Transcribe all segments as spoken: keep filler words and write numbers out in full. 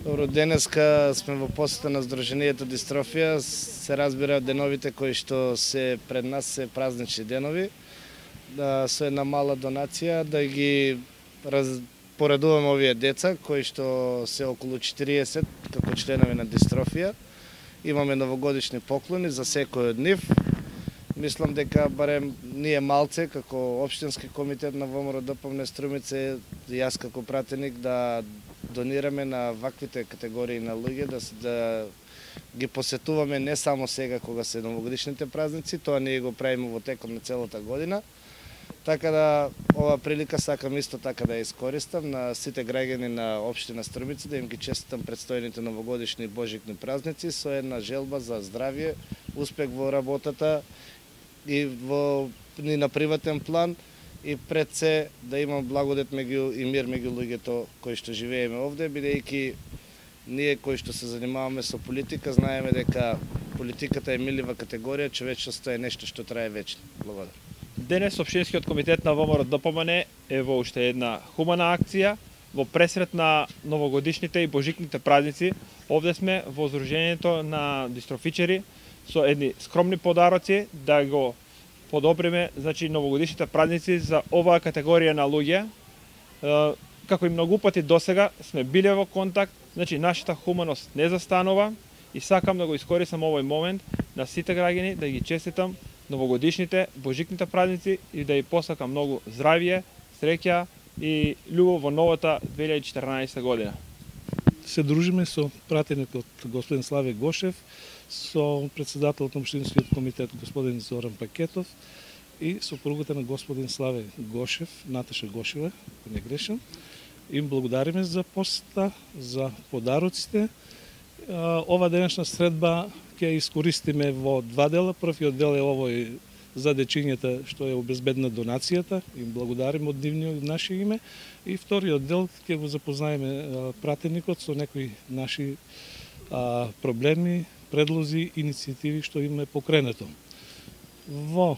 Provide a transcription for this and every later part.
Добро, денеска сме во посета на Сдруженијето Дистрофија. Се разбира деновите кои што се пред нас се празнични денови. Да, со една мала донација да ги раз... поредуваме овие деца кои што се околу четириесет како членови на Дистрофија. Имаме новогодишни поклони за секој од нив. Мислам дека барем ние малце како општински комитет на ВМРО-ДПМНЕ Струмица, јас како пратеник да донираме на ваквите категории на луѓе, да, да ги посетуваме не само сега кога се новогодишните празници, тоа ние го правиме во текот на целата година. Така да ова прилика сакам исто така да ја искористам на сите граѓани на општина Струмица, да им ги честитам предстојните новогодишни и божикни празници со една желба за здравје, успех во работата и во и на приватен план, и пред се да имам благодет меѓу и мир меѓу луѓето кои што живееме овде, бидејќи ние кои што се занимаваме со политика знаеме дека политиката е милива категорија, човечноста е нешто што трае вечно. Благодарам. Денес Општинскиот комитет на ВМРО-ДПМНЕ е во уште една хумана акција во пресрет на новогодишните и божикните празници. Овде сме во Сдруженијето на дистрофичари со едни скромни подароци да го подобриме, значи, новогодишните празници за оваа категорија на луѓе. Како и многу пати досега сме биле во контакт, значи нашата хуманост не застанува и сакам да го искористам овој момент на сите граѓани да ги честитам новогодишните, божикните празници и да ја посакам многу здравје, среќа и љубов во новата две илјади и четрнаесета година. Се дружиме со пратеникот господин Славе Гошев, со председателот на Општинскиот комитет господин Зоран Пакетов и сопругата на господин Славе Гошев, Наташа Гошева, ако не грешам. Им благодариме за посета, за подароците. Ова денешна средба ќе искористиме во два дела. Првиот дел е овој за дечињата што е обезбедна донацијата. Им благодариме од нивно наше име. И вториот дел ќе го запознаеме пратеникот со некои наши а, проблеми, предлози, иницијативи што им е покренето. Во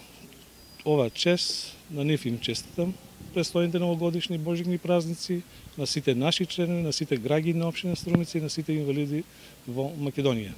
ова чест на нив им честитам престојните новогодишни божикни празници, на сите наши членови, на сите граѓани на општина Струмица и на сите инвалиди во Македонија.